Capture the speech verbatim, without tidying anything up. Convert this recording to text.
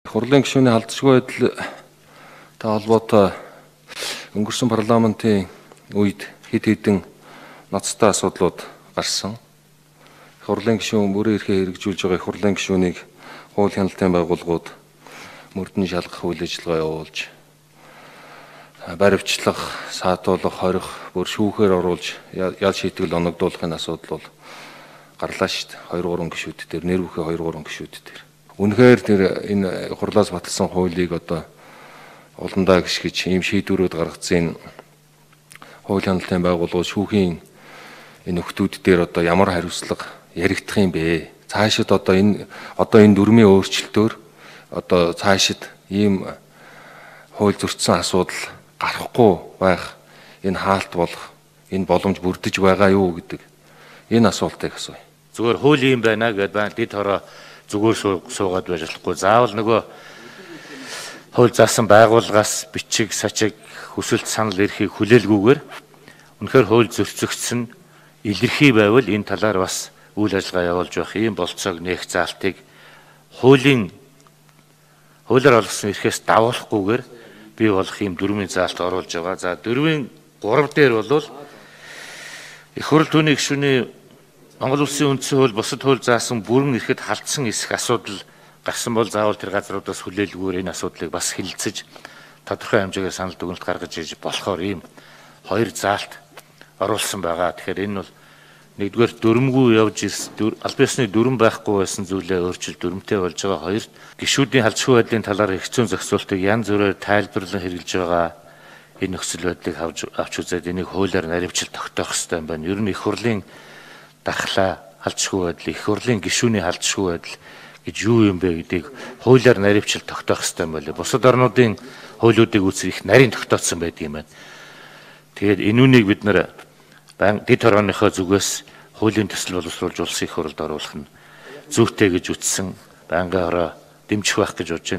Хурлын гишүүний халдшгүй байдал та холбоотой өнгөрсөн парламентын үед хэд хэдэн ноцтой асуудлууд гарсан. Хурлын гишүүн бүрэн эрхээ хэрэгжүүлж байгаа хурлын гишүүнийг хууль хяналтын байгууллагууд мөрдөн шалгах үйл ажиллагаа явуулж, баривчлах, саатуулах, хорих, бүр шүүхээр оруулж ял шийтгэл оногдуулахын асуудал бол гарлаа шүү дээ. хоёр гурван гишүүд дээр, нэр бүхий хоёр гурван гишүүд дээр. Үнэхээр тэр энэ хурлаас батлсан хуулийг одоо уландаа гიშгэж ийм шийдвэрүүд гаргацсан хууль хяналтын байгууллагууд шүүхийн энэ нөхдүүд дээр одоо ямар хариуцлага яригдах юм бэ? Цаашид одоо энэ одоо энэ дүрмийн өөрчлөлтөөр одоо цаашид ийм хууль зөрчсөн асуудал гарахгүй байх, энэ хаалт болох, энэ боломж бүрдэж байгаа юу гэдэг энэ асуултыг асууя. Зүгээр хууль юм байна гэдээ дэд хороо зүгээр суугаад байж болохгүй. Заавал нөгөө хууль заасан байгууллагаас бичиг, сачиг, хүсэлт, санал эрхийг хүлээлгүйгээр үнэхээр хууль зөрчигдсөн илэрхий байвал энэ талаар бас үйл ажиллагаа явуулж явах ийм болцоог нээх заалтыг хуулийн хуулиар олгосон эрхээс давуулахгүйгээр бий болох ийм дөрвийн заалт оруулж байгаа. За дөрвийн гурав дээр бол их хурл түүний гишүүний Монгол Улсын үндсэн хууль бусад хууль заасан бүрэн эрхэд халдсан эсэх асуудал гарсан бол заавал тэр газруудаас хүлээлгүүр энэ асуудлыг бас хилцэж тодорхой хэмжээгээр санал дүгнэлт гаргаж иж болохоор ийм хоёр заалт оруулсан байгаа. Тэгэхээр энэ бол нэгдүгээр дүрмгүй явж ирсэн аль биесны дүрм байхгүй байсан зүйлээ өөрчил дүрмтэй болж байгаа. Хоёрт гишүүдийн халдшгүй байдлын талаар хэцүү зохицуултыг янз бүрээр тайлбарлан хэрэгжилж байгаа. Энэ нөхцөл байдлыг авч үзээд энийг хуулиар наривчлал тогтоох хэрэгтэй юм байна. Ер нь их хурлын дархлаа халдшгүй байдал, их хурлын гишүүний халдшгүй байдал гэж юу юм бэ гэдгийг хуулиар наривчлал тогтоох хэрэгтэй юм байна. Бусад орнуудын хуулиудыг үзэх их нарийн тогтооцсон байдаг юм байна. Тэгээд энүүнийг бид нэр дэд хорооныхоо зүгээс хуулийн төсөл боловсруулж улсын их хурлд оруулах нь зүйтэй гэж үтсэн байнгын хороо дэмжих байх гэж бодож байна.